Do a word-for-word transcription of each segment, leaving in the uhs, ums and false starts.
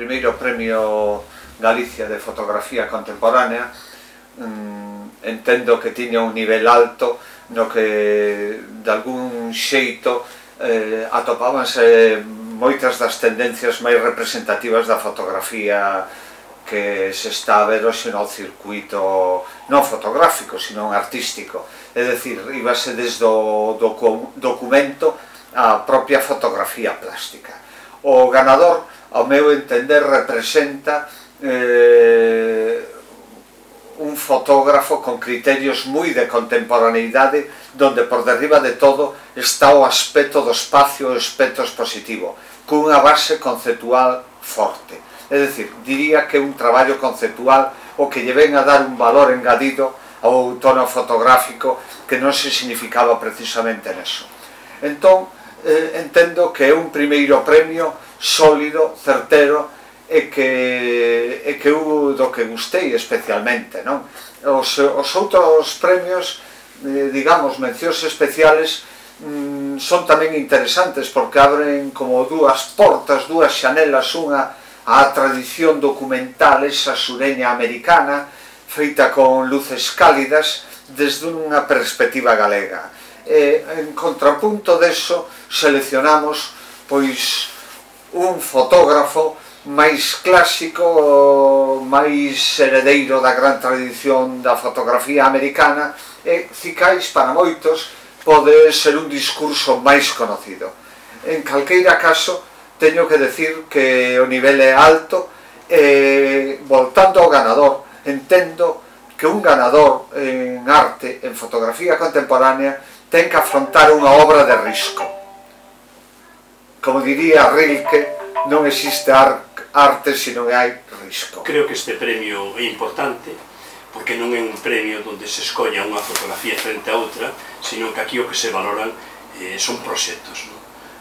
primeiro Premio Galicia de Fotografía Contemporánea, entendo que tiña un nivel alto no que de algún xeito eh, atopábanse moitas das tendencias máis representativas da fotografía que se está a ver hoxe no circuito non fotográfico, sino artístico. É dicir, íbase desde o docu documento á propia fotografía plástica. O ganador, ao meu entender, representa eh, un fotógrafo con criterios moi de contemporaneidade, donde por derriba de todo está o aspecto do espacio, o aspecto expositivo, cunha base conceptual forte. É dicir, diría que é un traballo conceptual o que lle ven a dar un valor engadido ao tono fotográfico que non se significaba precisamente neso. Entón, eh, entendo que é un primeiro premio sólido, certero, e que, e que eu do que gustei especialmente, non? Os, os outros premios, eh, digamos, mencións especiales, mm, son tamén interesantes porque abren como dúas portas, dúas xanelas, unha á tradición documental esa sureña americana, feita con luces cálidas desde unha perspectiva galega. E, en contrapunto deso, seleccionamos pois un fotógrafo máis clásico, máis heredeiro da gran tradición da fotografía americana, e cicais para moitos pode ser un discurso máis conocido. En calqueira caso, teño que decir que o nivel é alto, e voltando ao ganador, entendo que un ganador en arte, en fotografía contemporánea, ten que afrontar unha obra de risco. Como diría Rilke, non existe arte se non hai risco. Creo que este premio é importante porque non é un premio onde se escolla unha fotografía frente a outra, sino que aquí o que se valoran eh, son proxectos, ¿no?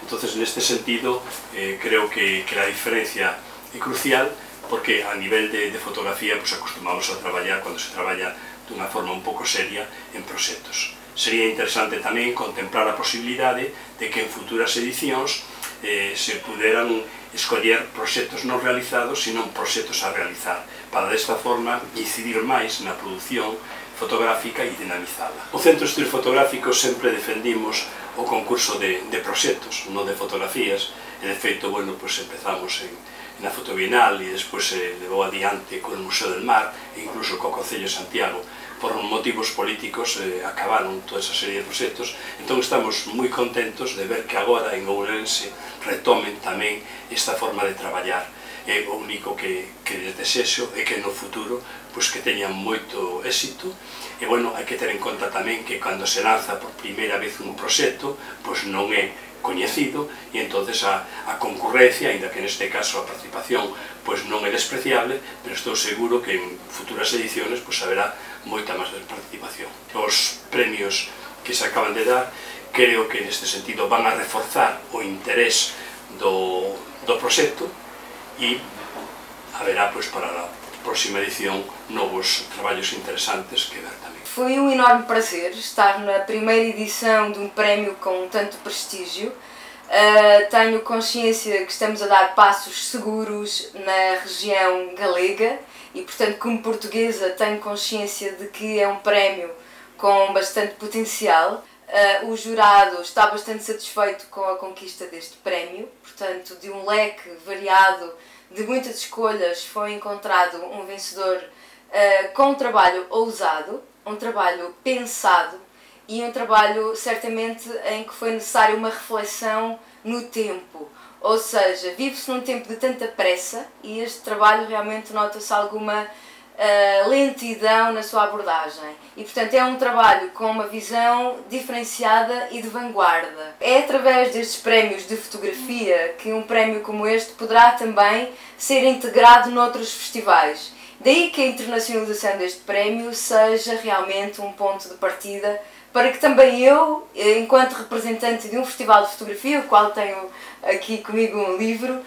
Entonces, neste sentido, eh, creo que, que a diferencia é crucial porque a nivel de, de fotografía pues, acostumamos a traballar cando se traballa dunha forma un pouco seria en proxectos. Sería interesante tamén contemplar a posibilidade de que en futuras edicións eh, se puderan escoller proxectos non realizados, sino proxectos a realizar, para desta forma incidir máis na produción fotográfica e dinamizala. O Centro de Estudios Fotográficos sempre defendimos o concurso de, de proxectos, non de fotografías, e de feito, bueno, pues empezamos en, na Fotobienal e despois se levou adiante con o Museo del Mar e incluso co Concello de Santiago. Por motivos políticos eh, acabaron toda esa serie de proxectos, entón estamos moi contentos de ver que agora en Ourense retomen tamén esta forma de traballar. É o único que, que les desexo é que no futuro pues, que teñan moito éxito, e bueno, hai que ter en conta tamén que cando se lanza por primeira vez un proxecto, pues non é coñecido, e entonces a, a concurrencia, ainda que neste caso a participación pues non é despreciable, pero estou seguro que en futuras ediciones pues haberá moita máis participación. Os premios que se acaban de dar creo que neste sentido van a reforzar o interés do, do proxecto e haberá pues, para a próxima edición novos traballos interesantes que ver tamén. Foi um enorme prazer estar na primeira edição de um prémio com tanto prestígio. Uh, tenho consciência que estamos a dar passos seguros na região galega e, portanto, como portuguesa, tenho consciência de que é um prémio com bastante potencial. Uh, o jurado está bastante satisfeito com a conquista deste prémio, portanto, de um leque variado de muitas escolhas foi encontrado um vencedor uh, com um trabalho ousado, um trabalho pensado e um trabalho certamente em que foi necessária uma reflexão no tempo. Ou seja, vive-se num tempo de tanta pressa e este trabalho realmente nota-se alguma uh, lentidão na sua abordagem. E portanto é um trabalho com uma visão diferenciada e de vanguarda. É através destes prémios de fotografia que um prémio como este poderá também ser integrado noutros festivais. Daí que a internacionalização deste prémio seja realmente um ponto de partida para que também eu, enquanto representante de um festival de fotografia, o qual tenho aqui comigo um livro,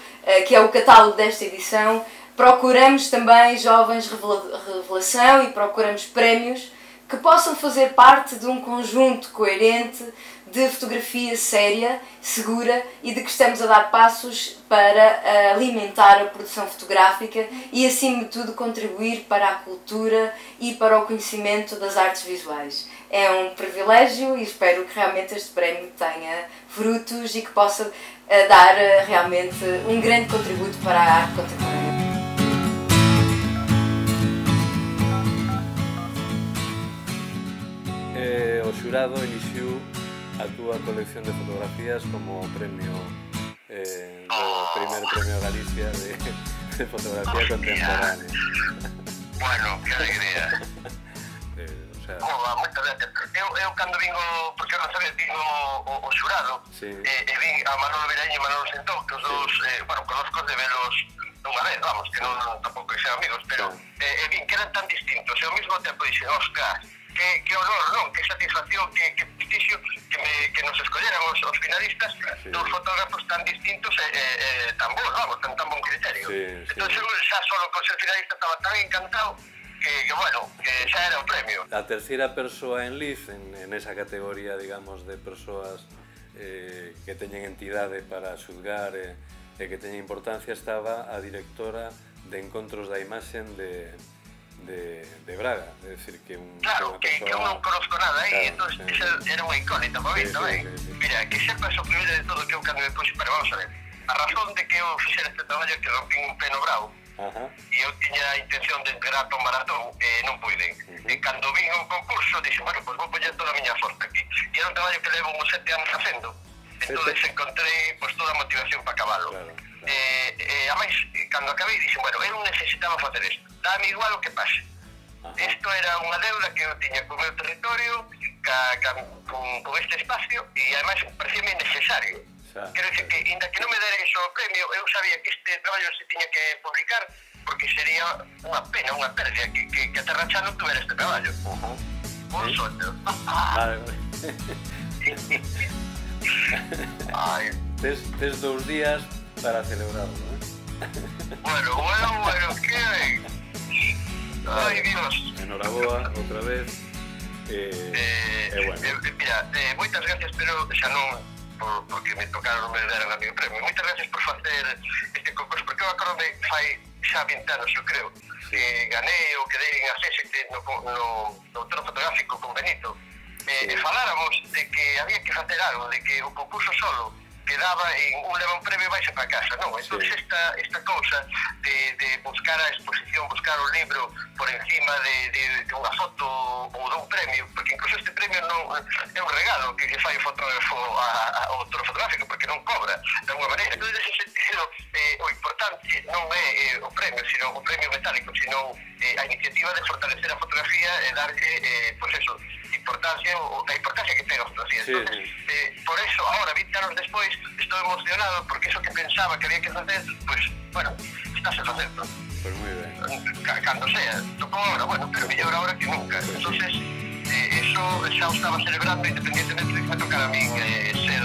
que é o catálogo desta edição, procuramos também jovens revelação e procuramos prémios que possam fazer parte de um conjunto coerente de fotografia séria, segura e de que estamos a dar passos para alimentar a produção fotográfica e, acima de tudo, contribuir para a cultura e para o conhecimento das artes visuais. É um privilégio e espero que realmente este prémio tenha frutos e que possa dar realmente um grande contributo para a arte contemporânea. Eh, o xurado elixiu a túa colección de fotografías como premio eh, do primer premio Galicia de, de fotografía contemporánea. Bueno, que alegría. eh, o sea... Oba, moitas gracias. Eu, eu cando vingo, porque eu non sabía, vingo o, o xurado, sí. e, e vin a Manolo Veraño e Manolo Sentón, que os dos, sí. eh, bueno, conozco de velos unha vez, vamos, que non, non tampouco que sean amigos, pero sí. eh, e vin que eran tan distintos, e ao mesmo tempo dixen, ostras, que, que honor, non? Que satisfacción, que, que prestixio que, me, que nos escolleran os, os finalistas sí. dos fotógrafos tan distintos e, e, e tan bons, vamos, tan, tan bon criterio. Sí, entón, sí. xa solo con ser finalista estaba tan encantado que, que, bueno, que xa era o premio. A terceira persoa en Liz, en, en esa categoría, digamos, de persoas eh, que teñen entidade para xulgar e eh, que teñen importancia, estaba a directora de Encontros da Imaxen de... De, de Braga, é dicir que un claro, que, persona... que eu non conozco nada aí, claro, entón sí. Era unha incógnita para mí sí, tamén. Sí, sí, sí. Mira, que sepas o primeiro de todo que eu cando me puse, pero vamos a ver, a razón de que eu fixera este traballo é que rompín un peno bravo e eu tiña a intención de entregar para un maratón e non puiden. Uh -huh. E cando vin un concurso, dixen, bueno, pois pues vou poñer toda a miña forza aquí. E era un traballo que levo uns sete anos facendo, entón encontrei pues, toda a motivación para acabalo. Claro. Eh, eh, a máis, cando acabei, dixen, bueno, eu non necesitaba facer isto, dame igual o que pase. Isto era unha deuda que eu tiña co meu territorio, ca, ca, con, con este espacio, e ademais parecíame necesario. Quero dicir que, inda que non me dera iso o premio, eu sabía que este traballo se tiña que publicar, porque sería unha pena, unha pérdida, que, que, que a Terra xa non tuvera este traballo. Uh -huh. Un sí. Soño. Vale, vale. Ai. Tes, tes dous días para celebrarlo, eh? Bueno, bueno, bueno, que ben. Ai, Dios. Enhoraboa, outra vez. Eh, eh, eh, bueno. eh, mira, eh, moitas gracias, pero xa non por, porque me tocaron me deran a mi premio. Moitas gracias por facer este concurso, porque eu acordo de fai xa vinte anos, eu creo, sí. Que ganei ou que dei en acceso no, no, no autor fotográfico con Benito. Eh, sí. E faláramos de que había que facer algo, de que o concurso solo quedaba en un leva un premio e baixa para casa, non? Entón, sí. esta, esta cousa de, de buscar a exposición, buscar o libro por encima de, de, de unha foto ou de un premio, porque incluso este premio non é un regalo que lle fai o fotógrafo ao autor fotográfico, porque non cobra de alguma maneira. Entón, nesse sentido, eh, o importante non é eh, o premio, sino o premio metálico, sino eh, a iniciativa de fortalecer a fotografía e darlle, eh, pues eso, importancia, ou a importancia que ten a fotografía. Sí, entonces, sí. Eh, por eso, ahora, vinte anos despois, estou emocionado, porque eso que pensaba que había que facer, pues, bueno, estáse facendo. Pues moi ben. Cando sea, tocou ahora, bueno, pero mellor ahora que nunca. Entonces, eh, eso xa o estaba celebrando, independientemente de que me tocara a min eh, ser